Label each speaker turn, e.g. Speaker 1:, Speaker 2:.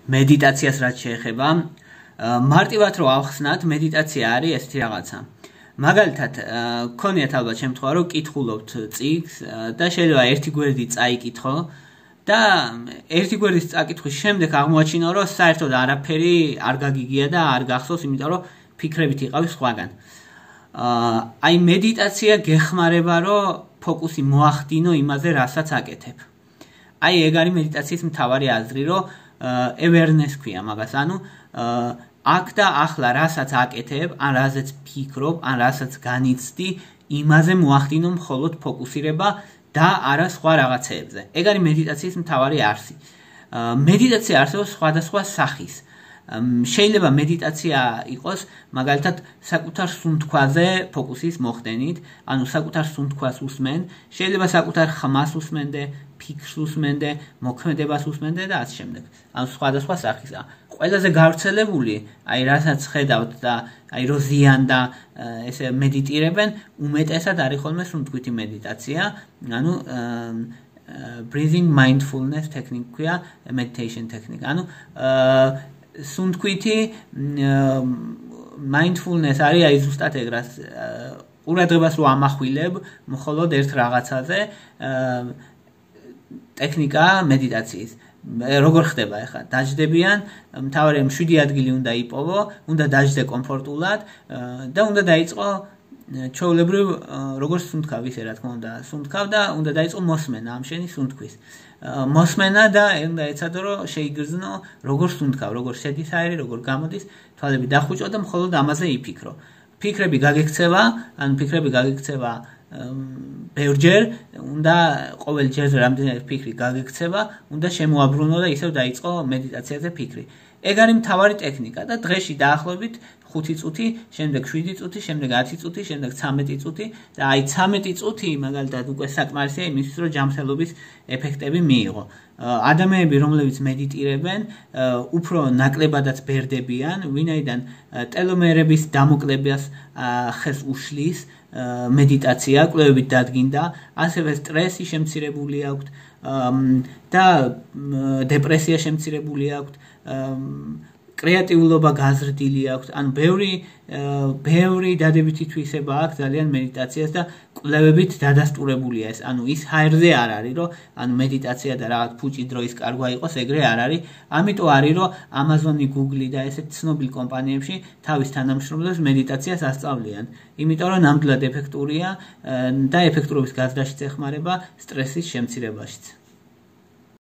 Speaker 1: მედიტაციას რაც შეეხება, მარტივად რო ავხსნათ, მედიტაცია არის ესეთი რაღაცა. მაგალითად, გქონიათ ალბათ შემთხვევა, რომ კითხულობთ წიგნს და შეიძლება ერთი გვერდი წაიკითხო და ერთი გვერდის წაკითხვის შემდეგ აღმოაჩინო, რომ საერთოდ არაფერი არ გაგიგია და არ გახსოვს, იმიტომ რომ ფიქრებით იყავი სხვაგან. აი მედიტაცია გეხმარება, რომ ფოკუსი მოახდინო იმაზე, რასაც აკეთებ. აი ეგ არის მედიტაციის მთავარი აზრი, რომ awareness ქვია მაგას, ანუ აქ და ახლა რასაც აკეთებ, ან რაზეც ფიქრობ, ან რასაც განიცდი, იმაზე მოახდინო მხოლოდ ფოკუსირება და არა სხვა რაღაცეებზე. ეგ არის მედიტაციის მთავარი არსი. მედიტაცია არსებობს სხვადასხვა სახის. შეიძლება მედიტაცია იყოს მაგალითად საკუთარ სუნთქვაზე ფოკუსის მოხდენით, ანუ საკუთარ სუნთქვას უსმენ, შეიძლება საკუთარ ხმას უსმენდე, ფიქრს უსმენდე, მოქმედებას უსმენდე და ასე შემდეგ. ანუ სხვადასხვა სახისა. ყველაზე გავრცელებული, აი რასაც ხედავთ და აი რო ზიან და ესე მედიტირებენ, უმეტესად არის ხოლმე სუნთქვითი მედიტაცია, ანუ breathing mindfulness technique ქვია, meditation technique. ანუ სუნთქვითი mindfulness არის აი ზუსტად ეგ რაც ყურადღებას რო ამახვილებ მხოლოდ ერთ რაღაცაზე ტექნიკა მედიტაციის. როგორ ხდება ახლა? დაждდებიან, მთავარია 7 ადგილი უნდა იპოვო, უნდა დაждდე კომფორტულად და უნდა დაიწყო ჩვეულებრივ როგორ სუნთქავ ისე რა თქმა უნდა, სუნთქავ და უნდა დაიწყო მოსმენა ამ შენი სუნთქვის. მოსმენა და უნდა ეცადო რომ შეიგრძნო როგორ სუნთქავ, როგორ შედის აერი, როგორ გამოდის, თვალები დახუჭო და მხოლოდ ამაზე იფიქრო. ფიქრები გაგექცევა, ან ფიქრები გაგექცევა ბევრჯერ, უნდა ყოველ ჯერზე რამდენიმე ფიქრი გაგექცევა, უნდა შემოაბრუნო და ისევ დაიწყო მედიტაციაზე ფიქრი. ეგ არის მთავარი ტექნიკა და დღეში დაახლოებით 5 წუთი, შემდეგ 7 წუთი, შემდეგ 10 წუთი, შემდეგ 13 წუთი და აი 13 წუთი მაგალითად უკვე საკმარისია იმისთვის, რომ ჯანმრთელობის ეფექტები მიიღო. ადამიანები, რომლებიც მედიტირებენ, უფრო ნაკლებადაც ბერდებიან, ვინაიდან ტელომერების დამოკლებას ხელს უშლის მედიტაცია, კვლევებით დადგინდა, ასევე სტრესი შემცირებული აქვთ და დეპრესია შემცირებული აქვთ, კრეატიულობა გაზრდილი აქვს, ან ბევრი დადებითი თვისება აქვს ძალიან მედიტაციას და კვლევებით დადასტურებულია ეს. ანუ ის ჰაერზე არ არის, რომ ანუ მედიტაცია და რაღაც ფუჭი დროის კარგვა იყოს, ეგრე არ არის. ამიტომ არის, რომ Amazon-ი, Google-ი და ესეთ ცნობილ კომპანიებში თავის თანამშრომლებს მედიტაციას ასწავლიან. იმიტომ რომ ნამდვილად ეფექტურია და ეფექტურობის გაზრდაშიც ეხმარება, სტრესის შემცირებაშიც.